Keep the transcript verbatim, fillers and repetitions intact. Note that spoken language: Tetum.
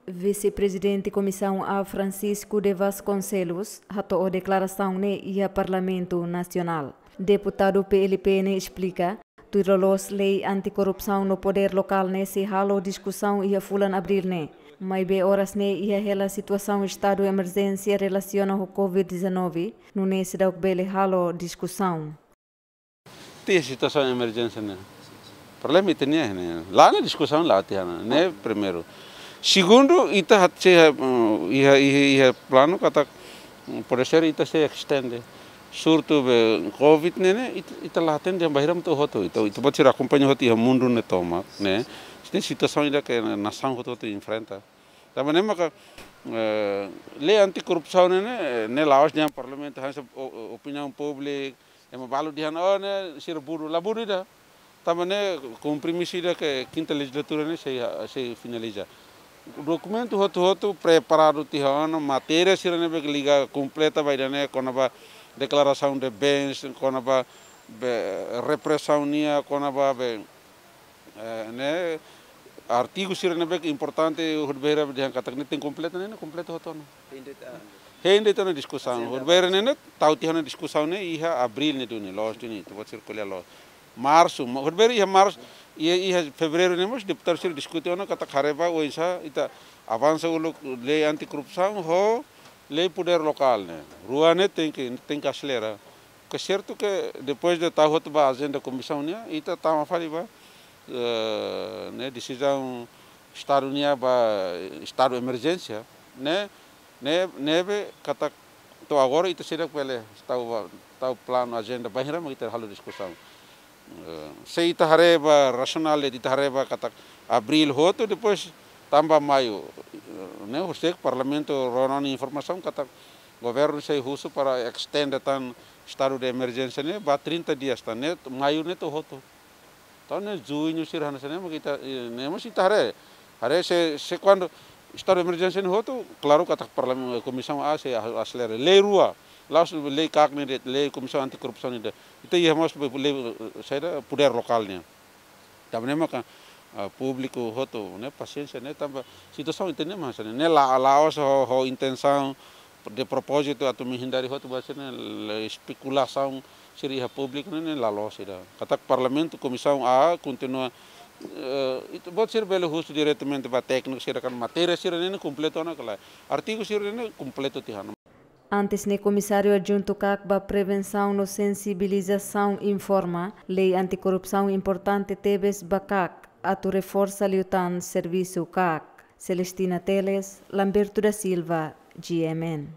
Vise-Prezidente Komisaun A Francisco de Vasconcelos hato'o deklarasaun ne'e iha Parlamentu Nasionál. Deputadu P L P ne'e esplika, tuir loloos lei antikorrupsaun no podér lokál ne'e sei halo diskusaun iha fulan Abríl ne'e. Maibé oras ne'e iha hela situasaun estadu emerjénsia relasiona ho covid dezanove, nune'e seidauk bele halo diskusaun. Tiha situasaun emerjénsia ne'e. Problema ita-nia ne'e. La'ós diskusaun la'ós tiha ona, ne'e primeiru. Segundu, ita hat se iha, iha, iha planu katak, mm, pode ser ita sei estende. Surtu be covid ne'e, ne'e, ita, ita la hatene dehan bainhira mak atu hotu. Ita, ita pode ser akompaña hotu iha mundu ne'e tomak, ne'e. Ne'e situasaun ida ke nasaun hotu-hotu enfrenta. Tanba ne'e maka, eh, lei antikorrupsaun ne'e, ne'e, ne'e la'ós dehan parlamentu, hanesan o-, o-, opiniaun públika, ema balu dehan, oh, ne'e sira burú, la burú ida. Tanba ne'e kompromisu ida ke kinta lejizlatura ne'e sei, sei finaliza. Dokumentu hotu-hotu preparadu tiha ona, matéria sira ne'ebé ke liga kompleta ba ida-ne'e, kona-ba deklarasaun de bens, kona-ba be, represaun nian, kona-ba be, eh, ne'e, artigu sira ne'ebé ke importante, hodi bainhira dehan katak ne'e tenke kompleta, ne'e, ne'e kompleta hotu ona. Hein de'it ona diskusaun. Hodi bainhira ne'e, ne'e, tau tiha ona diskusaun ne'e, iha Abríl ne'e duni, loos duni, ita-boot sira ko'alia loos. Marsu, ma-, hodi bainhira iha Marsu, iha, iha Fevereiru ne'e mós, deputadu sira diskute ona, katak haree ba, oinsá, ita avansa uluk lei antikorrupsaun, ho lei podér lokál ne'e. Rua ne'e tenke, tenke aselera. Ke sertu ke depois de tau hotu ba ajenda komisaun nian, ita tama fali ba, eh, ne'e desizaun estadu nian ba estadu emerjénsia, ne'e, ne'e, ne'ebé katak to'o agora ita seidauk bele tau ba, tau planu ajenda bainhira mak ita halo diskusaun. Eh, se ita haree ba rasionál, ita haree ba katak Abríl hotu, depois tanba Maiu, eh, ne'e, husik Parlamentu rona ona informasaun katak governu sei husu para estende tan estadu de emerjénsia ne'e ba trinta dias tan, ne'e, Maiu ne'e to'o hotu. Entaun ne'e Juñu sira hanesan ne'e mak ita, eh, ne'e mós ita haree. Haree se, se kuandu estadu de emerjénsia ne'e hotu, klaru katak Parlamentu, Komisaun A sei a-, aselera. Lei rua, la'ós lei KAK ne'e de'it, lei Komisaun Antikorrupsaun ne'e de'it. Ita iha mós be lei, eh, saida, podér lokál nian. Tanba ne'e maka, ah, públiku hotu, ne'e, pasiénsia, ne'e, tanba situasaun ita-nia mak hanesan ne'e, ne'e la, la'ós ho, ho intensaun de propózitu atu menghindari hotu, ba sira ne'e, le espekulasaun sira iha públiku ne'e, ne'e la loos ida. Katak Parlamentu, Komisaun A kontinua, eh, ita-boot sira bele husu diretamente ba tékniku sira, kan matéria sira ne'e, ne'e kompletu ona ka lae. Artigu sira ne'e, ne'e kompletu tiha ona. Antes ne'e Komisáriu Adjuntu KAK ba Prevensaun no Sensibilizasaun informa, lei antikorrupsaun importante tebes ba KAK, atu reforsa liután servisu KAK. Celestina Teles, Lamberto da Silva, G M N.